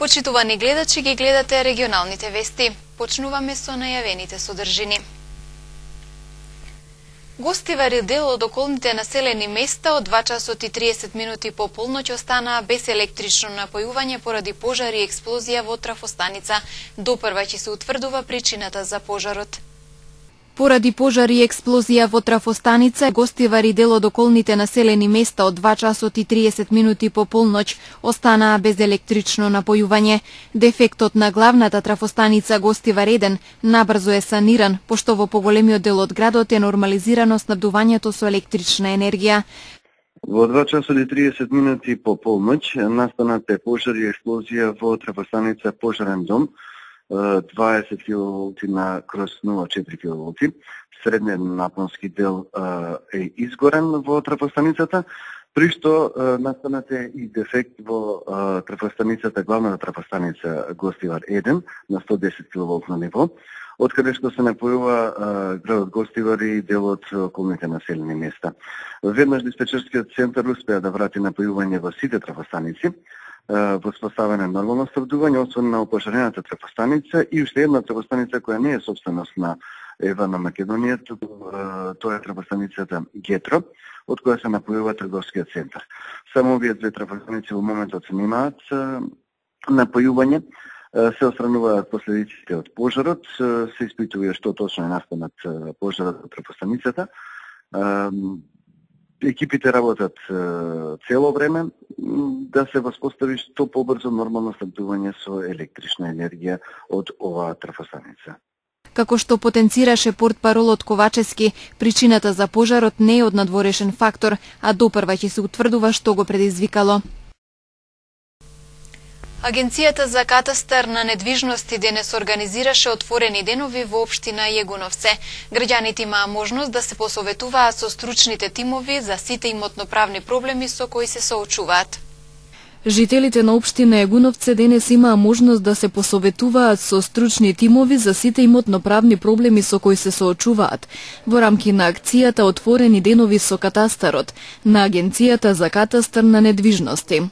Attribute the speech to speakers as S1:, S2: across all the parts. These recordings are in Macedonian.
S1: Почитувани гледачи, ги гледате регионалните вести. Почнуваме со најавените содржини. Гостивари дел од околните населени места од 2 часот и 30 минути по полноќ останаа без електрично напојување поради пожар и експлозија во трафостаница. Допрва ќе се утврдува причината за пожарот.
S2: Поради пожар и експлозија во трафостаница, гостивари дел од околните населени места од 2 часот и 30 минути по полноќ останаа без електрично напојување. Дефектот на главната трафостаница Гостивар 1 набрзо е саниран, пошто во поголемиот дел од градот е нормализирано снабдувањето со електрична енергија.
S3: Во 2 часот и 30 минути по полноќ настаната пожар и експлозија во трафостаница Пожарен дом, 20 киловолти на крос 0,4 киловолти. Средниот напонски дел е изгорен во трафостаницата, при што настанат е и дефект во трафостаницата, главната трафостаница Гостивар 1 на 110 киловолтно ниво, од каде што се напојува градот Гостивар и дел од околните населени места. Веднаш диспечерскиот центар успеа да врати напојување во сите трафостаници, воспоставена нормално снабдување, освен на опожарената трафостаница и уште една трафостаница која не е собственост на ЕВА на Македонија, тоа е трафостаницата Гетро, од која се напојува трговскиот центар. Само овие две трафостаници во моментот се немаат напојување, се отстрануваат последиците од пожарот, се испитува што точно е настанат пожарот од трафостаницата. Екипите работат цело време да се воспостави што побрзо нормално снабдување со електрична енергија од оваа трафостаница.
S2: Како што потенцираше портпаролот Ковачевски, причината за пожарот не е од надворешен фактор, а допрва ќе се утврдува што го предизвикало.
S1: Агенцијата за катастар на недвижности денес организираше отворени денови во општина Јегуновце. Граѓаните имаа можност да се посоветуваат со стручните тимови за сите имотноправни проблеми со кои се соочуваат.
S2: Жителите на општина Јегуновце денес имаа можност да се посоветуваат со стручни тимови за сите имотноправни проблеми со кои се соочуваат во рамки на акцијата Отворени денови со катастарот на Агенцијата за катастар на недвижности.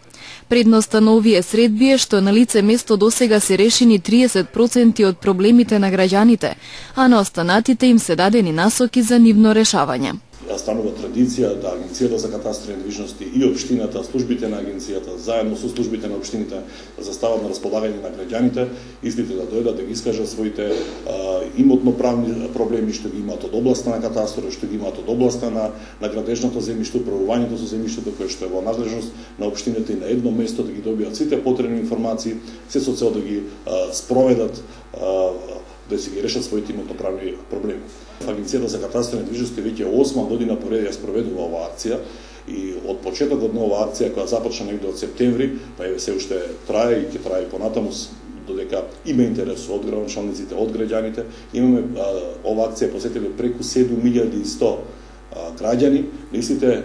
S2: Предноста на овие средби е што на лице место досега се решени 30% од проблемите на граѓаните, а на останатите им се дадени насоки за нивно решавање.
S4: Станува традиција да Агенцијата за катастар на недвижности и општината, службите на Агенцијата, заедно со службите на општините, застават на располагање на граѓаните, истите да дојдат да ги искажат своите имотноправни проблеми што ги имаат од областа на катастарот, што ги имаат од областа на градежното земјиште, управувањето со земјиштето кое што е во надлежност на општините и на едно место да ги добијат сите потребни информации, се со цел да ги спроведат, да си ги решат своите имотноправни проблеми. Агенцијата за катастар на недвижности веќе 8 година поред ја спроведува оваа акција и од почетокот на оваа акција која започна негде од септември, па еве се уште трае и ќе трае и понатаму додека има интерес од градоначалниците, од граѓаните. Имаме оваа акција посетиле преку 7100 граѓани, наистите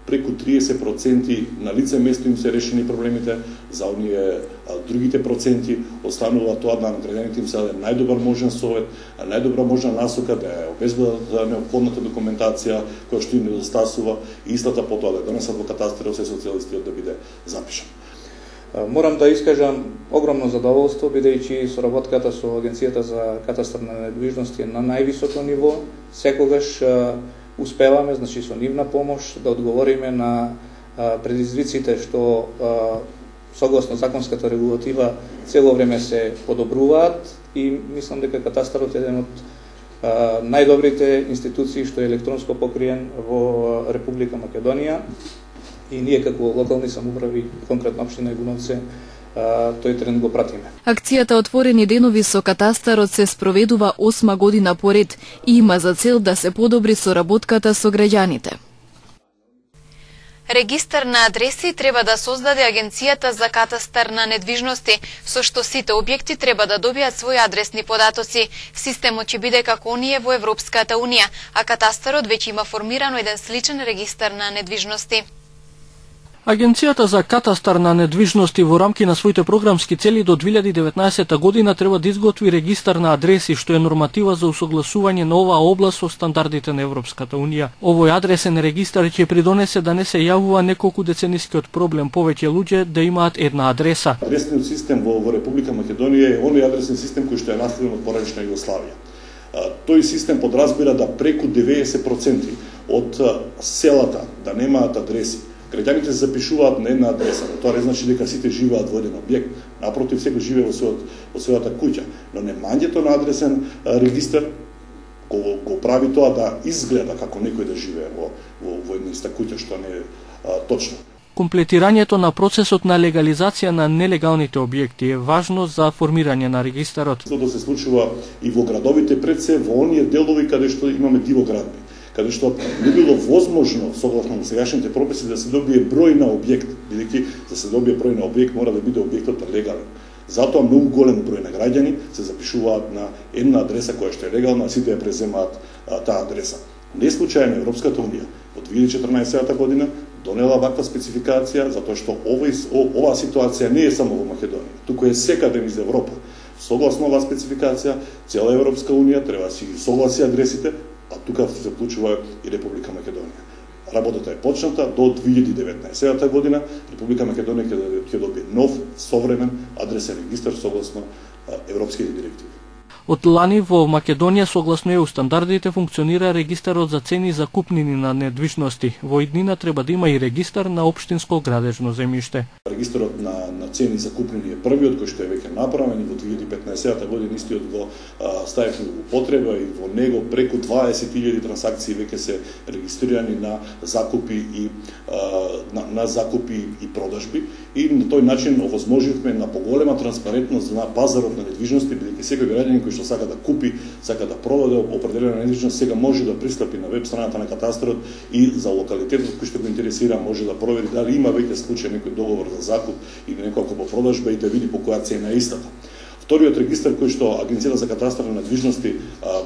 S4: преку 30% на лице место им се решени проблемите, за оние другите проценти останува тоа да на граѓаните им се даде најдобар можен совет, најдобра можна насока да ја обезбедат неопходната документација која што им недостасува и истата потоа да донесат во катастарот се социјалистиот да биде запишан.
S5: Морам да искажам огромно задоволство, бидејќи соработката со Агенцијата за катастар на недвижности е на највисоко ниво. Секогаш успеваме, значи со нивна помош, да одговориме на предизвиците што согласно законската регулатива цело време се подобруваат и мислам дека катастарот е еден од најдобрите институции што е електронско покриен во Република Македонија и ние како локални самоуправи, конкретно општина Јегуновце, тој тренд го пратиме.
S2: Акцијата Отворени денови со катастарот се спроведува 8 година поред и има за цел да се подобри соработката со граѓаните.
S1: Регистар на адреси треба да создаде Агенцијата за катастар на недвижности, со што сите објекти треба да добијат своји адресни податоци. Системот ќе биде како оние во Европската Унија, а катастарот веќе има формирано еден сличен регистар на недвижности.
S6: Агенцијата за катастар на недвижности во рамки на своите програмски цели до 2019 година треба да изготви регистар на адреси, што е норматива за усогласување на оваа област со стандардите на Европската Унија. Овој адресен регистар ќе придонесе да не се јавува неколку деценискиот проблем повеќе луѓе да имаат една адреса.
S4: Адресниот систем во Република Македонија е оној адресен систем кој што е наследен од поранешна Југославија. Тој систем подразбира да преку 90% од селата да немаат адреси. Граѓаните се запишуваат на една адреса, но тоа не значи дека сите живеат во еден објект. Напротив, секој живее во својата куќа, но немањето на адресен регистар го прави тоа да изгледа како некој да живее во една иста куќа, што не е точно.
S6: Комплетирањето на процесот на легализација на нелегалните објекти е важно за формирање на регистарот.
S4: Тоа се случува и во градовите, пред се во оние делови каде што имаме дивоградби, каде што не било возможно согласно на сегашните прописи да се добие број на објект, бидејќи за се добие број на објект мора да биде објектот легален. Затоа многу голем број на граѓани се запишуваат на една адреса која што е легална, а сите ја преземаат таа адреса. Не случајно Европската Унија во 2014 година донела ваква спецификација, затоа што оваа ситуација не е само во Македонија, туку е секаде низ Европа. Согласно оваа спецификација, цела Европска Унија треба да си согласи адресите, а тука се вклучува и Република Македонија. Работата е почната до 2019 година. Република Македонија ќе добие нов, современ адресен регистар согласно европските директиви.
S6: Од лани во Македонија согласно ЕУ стандардите функционира регистарот за цени за купнини на недвижности. Во иднина треба да има и регистар на општинско градежно земјиште.
S4: Регистарот на цени за купнини е првиот кој што е веќе направен и во 2015 година истиот го ставивме во употреба и во него преку 20.000 трансакции веќе се регистрирани на закупи и продажби и на тој начин овозможивме на поголема транспарентност на пазарот на недвижности, бидејќи секој граѓанин кој што сака да купи, сака да продаде определена недвижност, сега може да пристапи на веб страната на катастрот и за локалитетот кој што го интересира може да провери дали има веќе случај некој договор за закуп или неколку по продажба и да види по која цена е истата. Вториот регистар кој што Агенцијата за катастар на недвижности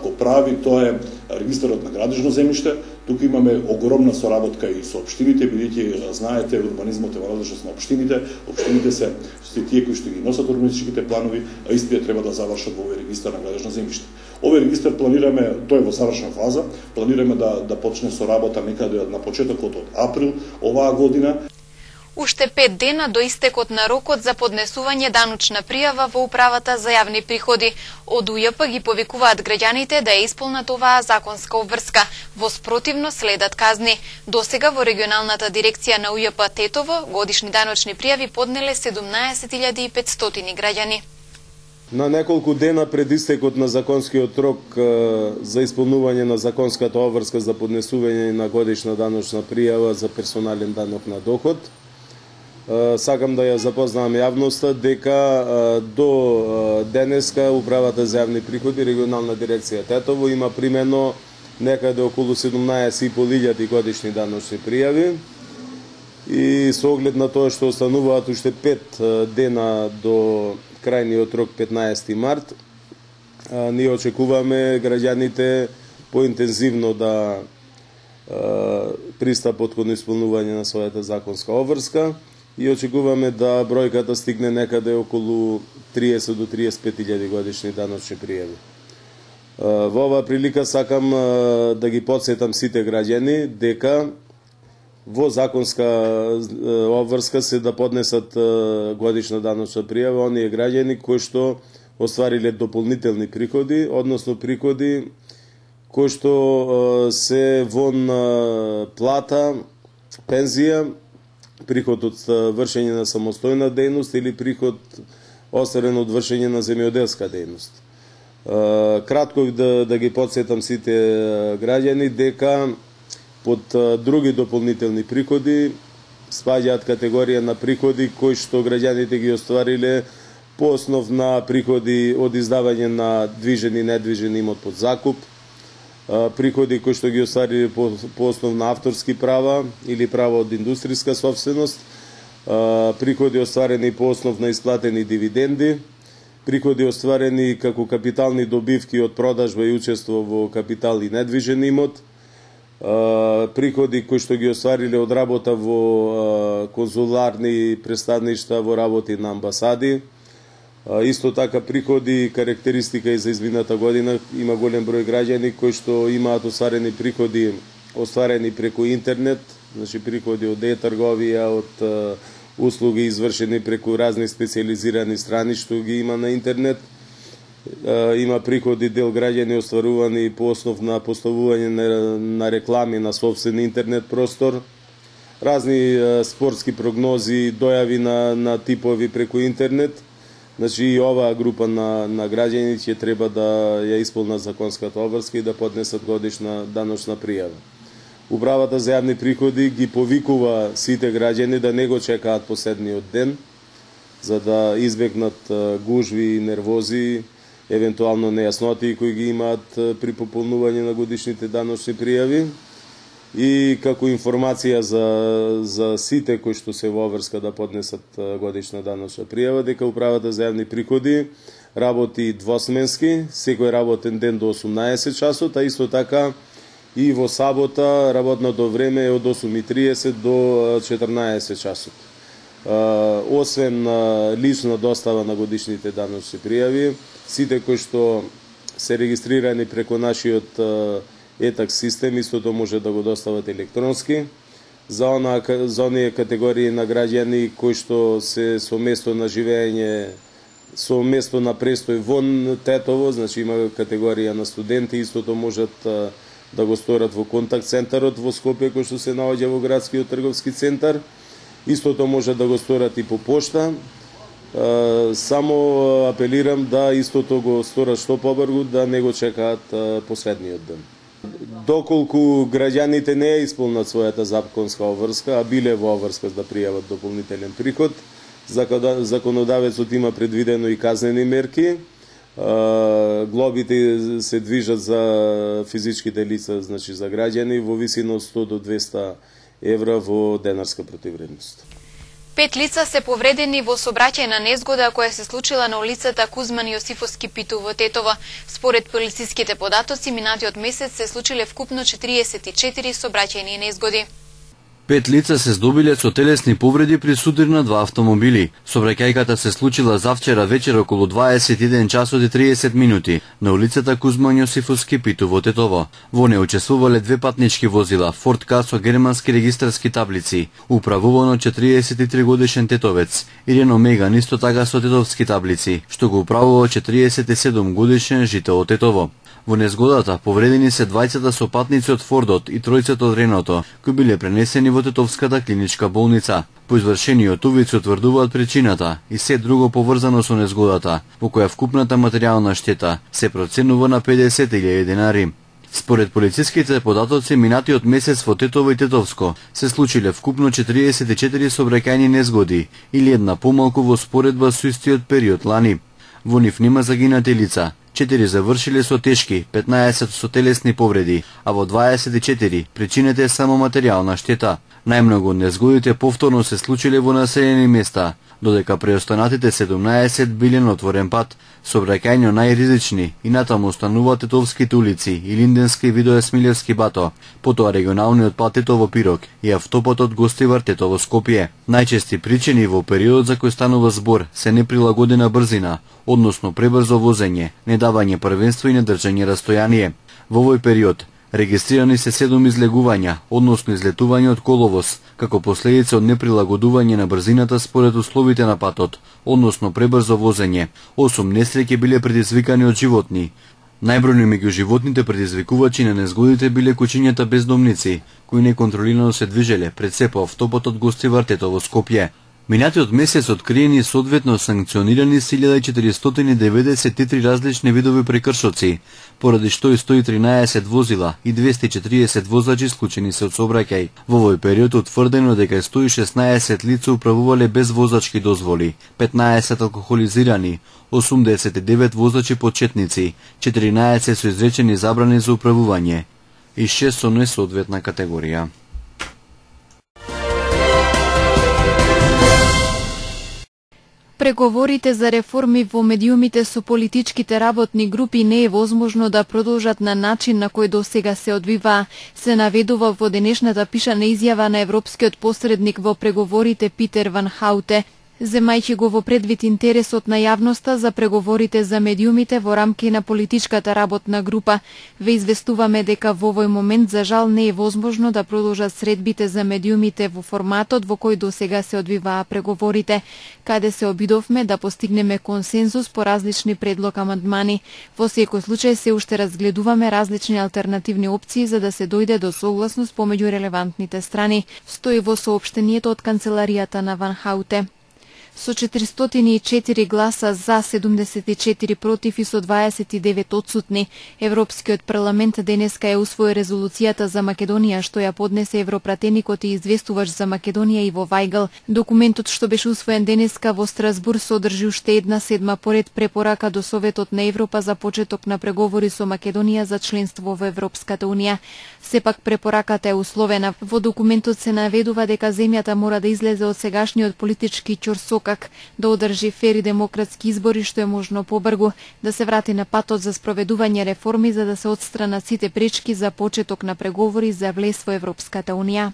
S4: го прави, тоа е регистарот на градежно земјиште. Тука имаме огромна соработка и со општините, бидејќи знаете урбанизмот е во надлежност на општините. Општините се тие кои што ги носат урбанистичките планови, а истите треба да завршат во овој регистар на градежно земјиште. Овој регистар планираме, тој е во завршна фаза, планираме да почне со работа некаде на почетокот од април оваа година.
S1: Уште 5 дена до истекот на рокот за поднесување даночна пријава во Управата за јавни приходи. Од УЈП ги повикуваат граѓаните да ја исполнат оваа законска обврска. Во спротивно следат казни. Досега во регионалната дирекција на УЈП Тетово годишни даночни пријави поднеле 17.500 граѓани.
S7: На неколку дена пред истекот на законскиот рок за исполнување на законската обврска за поднесување на годишна даночна пријава за персонален данок на доход, сакам да ја запознавам јавноста дека до денеска Управата за јавни приходи, регионална дирекција Тетово има примено некаде околу 17.500 годишни даночни пријави и со оглед на тоа што остануваат уште 5 дена до крајниот рок 15 март, ние очекуваме граѓаните поинтензивно да пристапат кон исполнување на својата законска обврска и очекуваме да бројката стигне некаде околу 30 до 35.000 годишни даночни пријави. Во оваа прилика сакам да ги потсетам сите граѓани дека во законска обврска се да поднесат годишна даночна пријава оние граѓани кои што оствариле дополнителни приходи, односно приходи кои што се вон плата, пензија, приход од вршење на самостојна дејност или приход осварен од вршење на земјоделска дејност. Кратко да ги потсетам сите граѓани дека под други дополнителни приходи спаѓаат категорија на приходи кои што граѓаните ги оствариле по основ на приходи од издавање на движен и недвижен имот под закуп, приходи кои што ги оствариле по основ на авторски права или права од индустријска собственост, приходи остварени по основ на исплатени дивиденди, приходи остварени како капитални добивки од продажба и учество во капитал и недвижен имот, приходи кои што ги оствариле од работа во конзуларни представништва, во работи на амбасади. Исто така приходи, карактеристика и за измината година, има голем број граѓани кои што имаат остварени приходи остварени преку интернет, значи приходи од e-трговија, од услуги извршени преку разни специјализирани страни што ги има на интернет. Има приходи дел граѓани остварувани по основ на поставување на реклами на сопствен интернет простор, разни спортски прогнози, дојави на типови преку интернет. Значи и оваа група на граѓани ќе треба да ја исполнат законската обврска и да поднесат годишна даночна пријава. Управата за јавни приходи ги повикува сите граѓани да не го чекаат последниот ден, за да избегнат гужви и нервози, евентуално нејасноти кои ги имаат при пополнување на годишните даночни пријави. И како информација за сите кои што се во обврска да поднесат годишна даночна пријава, дека Управата за јавни приходи работи двосменски, секој работен ден до 18 часот, а исто така и во сабота работното време е од 8:30 до 14 часот. Освен лична достава на годишните даночни пријави, сите кои што се регистрирани преку нашиот етакс систем, истото може да го достават електронски. За оние категории на граѓани кои што се со место на живење, со место на престој вон Тетово, значи има категорија на студенти, истото можат да го сторат во контакт центарот во Скопје, кој што се наоѓа во градскиот трговски центар. Истото може да го сторат и по пошта. Само апелирам да истото го сторат што побрзо, да не го чекаат последниот ден. Доколку граѓаните не ја исполнат својата законска обврска, а биле во обврска да пријават дополнителен приход, законодавецот има предвидено и казнени мерки. Глобите се движат за физичките лица, значи за граѓани, во висина од 100 до 200 евра во денарска противвредност.
S1: 5 лица се повредени во сообраќајна незгода која се случила на улицата Кузман Јосифовски Питу во Тетово. Според полициските податоци, минатиот месец се случиле вкупно 44 сообраќајни незгоди.
S8: 5 лица се здобиле со телесни повреди при судир на 2 автомобили. Сообраќајката се случила завчера вечер околу 21 часот и 30 минути на улицата Кузман Јосифовски Питу во Тетово. Во неја учествувале 2 патнички возила, Форд К со германски регистарски таблици, управувано 43 годишен тетовец, и Рено Меган исто така со тетовски таблици, што го управува 47 годишен жител од Тетово. Во незгодата повредени се двајцата со патници од Фордот и тројцата од Реното, кои биле пренесени во Тетовската клиничка болница. По извршениот увид се утврдуваат причината и се друго поврзано со незгодата, во која вкупната материјална штета се проценува на 50.000 денари. Според полициските податоци, минатиот месец во Тетово и Тетовско се случиле вкупно 44 сообраќајни незгоди, или една помалку во споредба со истиот период лани. Во нив нема загинати лица, 4 завршиле со тешки, 15 со телесни повреди, а во 24 причината е само материјална штета. Најмногу незгодите повторно се случиле во населени места, додека преостанатите 17 биле на отворен пат. Сообраќајно најризични и натаму остануваат Тетовските улици и Линденски Видое Смилевски Бато, потоа регионалниот пат Тетово Пирок и автопатот Гостивар Тетово Скопје. Најчести причини во периодот за кој станува збор се неприлагодена брзина, односно пребрзо возење, недавање првенство и недржање растојание. Во овој период регистрирани се 7 излегувања, односно излетување од коловоз, како последица од неприлагодување на брзината според условите на патот, односно пребрзо возење. 8 несреќи биле предизвикани од животни. Најбројни меѓу животните предизвикувачи на незгодите биле кучињата бездомници, кои неконтролирано се движеле пред се по автопатот Гостивар Тетово Скопје. Минатиот месец откриени и соодветно санкционирани 1493 различни видови прекршоци, поради што и 113 возила и 240 возачи исклучени се од сообраќај. Во овој период утврдено дека 116 лица управувале без возачки дозволи, 15 алкохолизирани, 89 возачи почетници, 14 со изречени забрани за управување и 6 со несоодветна категорија.
S2: Преговорите за реформи во медиумите со политичките работни групи не е возможно да продолжат на начин на кој досега се одвива, се наведува во денешната пишана изјава на европскиот посредник во преговорите Питер Ван Хауте, земајќи го во предвид интересот на јавноста за преговорите за медиумите во рамки на политичката работна група. Ве известуваме дека во овој момент за жал не е возможно да продолжат средбите за медиумите во форматот во кој досега се одвиваа преговорите, каде се обидовме да постигнеме консензус по различни предлог амандмани. Во секој случај се уште разгледуваме различни алтернативни опции за да се дојде до согласност помеѓу релевантните страни, стои во соопштението од канцеларијата на Ван Хауте. Со 404 гласа за, 74 против и со 29 одсутни, Европскиот парламент денеска ја усвои резолуцијата за Македонија што ја поднесе европратеникот и известувач за Македонија Иво Вајгл. Документот што беше усвоен денеска во Страсбург содржи уште една седма поред препорака до Советот на Европа за почеток на преговори со Македонија за членство во Европската унија. Сепак препораката е условена. Во документот се наведува дека земјата мора да излезе од сегашниот политички ќорсокак, да одржи фер и демократски избори што е можно побргу, да се врати на патот за спроведување реформи за да се отстранат сите пречки за почеток на преговори за влез во Европската унија.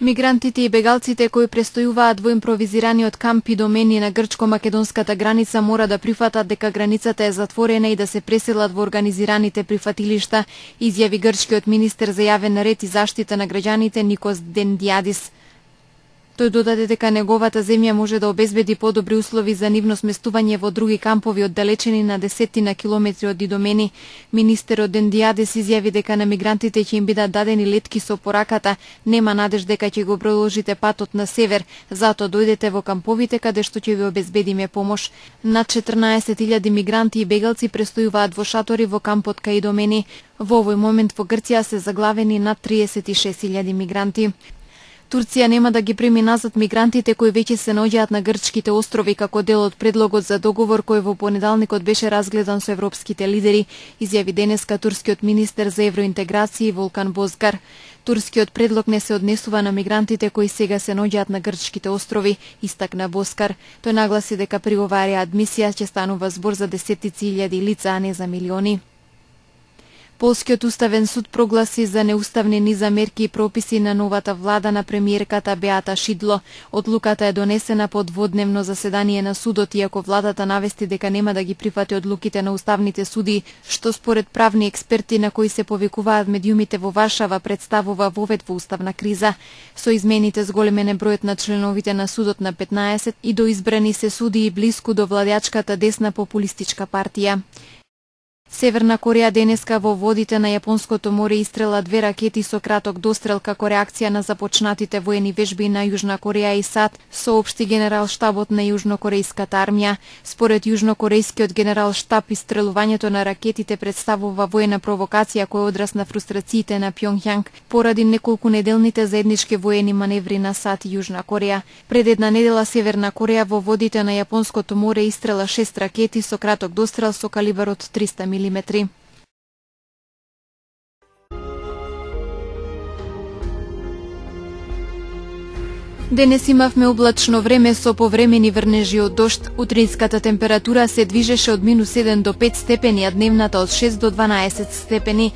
S2: Мигрантите и бегалците кои престојуваат во импровизираниот камп и домени на грчко-македонската граница мора да прифатат дека границата е затворена и да се преселат во организираните прифатилишта, изјави грчкиот министер за јавен ред и заштита на граѓаните Никос Дендиадис. Тој додаде дека неговата земја може да обезбеди подобри услови за нивно сместување во други кампови оддалечени на десетина километри од Идомени. Министерот Дендиадис изјави дека на мигрантите ќе им бидат дадени летки со пораката, нема надеж дека ќе го продолжите патот на север, затоа дојдете во камповите каде што ќе ви обезбедиме помош. Над 14.000 мигранти и бегалци престојуваат во шатори во кампот кај Идомени. Во овој момент во Грција се заглавени над 36.000 мигранти. Турција нема да ги прими назад мигрантите кои веќе се наоѓаат на грчките острови како дел од предлогот за договор кој во понеделникот беше разгледан со европските лидери, изјави денеска турскиот министер за евроинтеграција Волкан Бозгар. Турскиот предлог не се однесува на мигрантите кои сега се наоѓаат на грчките острови, истакна Бозгар. Тој нагласи дека при оваа реадмисија ќе станува збор за десетици илјади лица, а не за милиони. Полскиот уставен суд прогласи за неуставни низа мерки и прописи на новата влада на премиерката Беата Шидло. Одлуката е донесена по дводневно заседание на судот, иако владата навести дека нема да ги прифати одлуките на уставните суди, што според правни експерти на кои се повикуваат медиумите во Варшава представува вовед во уставна криза. Со измените зголемене бројот на членовите на судот на 15 и до избрани се суди и блиску до владеачката десна популистичка партија. Северна Кореја денеска во водите на Јапонското море истрела 2 ракети со краток дострел како реакција на започнатите воени вежби на Јужна Кореја и САД, соопшти генерал штабот на јужнокорејската армија. Според јужнокорејскиот генерал штаб, истрелувањето на ракетите представува воена провокација која одраз на фрустрациите на Пјонгјанг поради неколку неделните заеднички воени маневри на САД и Јужна Кореја. Пред една недела Северна Кореја во водите на Јапонското море истрела 6 ракети со краток дострел со калибар од 300 мм. Денес имавме облачно време со повремени врнежи од дожд. Утринската температура се движеше од -1 до 5 степени, а дневната од 6 до 12 степени.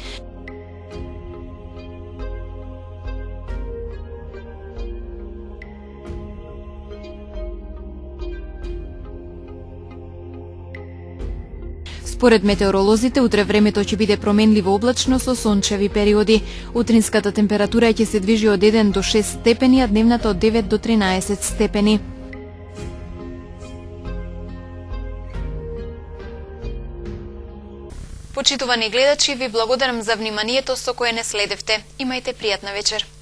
S2: Според метеоролозите, утре времето ќе биде променливо облачно со сончеви периоди. Утринската температура ќе се движи од 1 до 6 степени, а дневната од 9 до 13 степени.
S1: Почитувани гледачи, ви благодарам за вниманието со кое не следевте. Имајте пријатна вечер.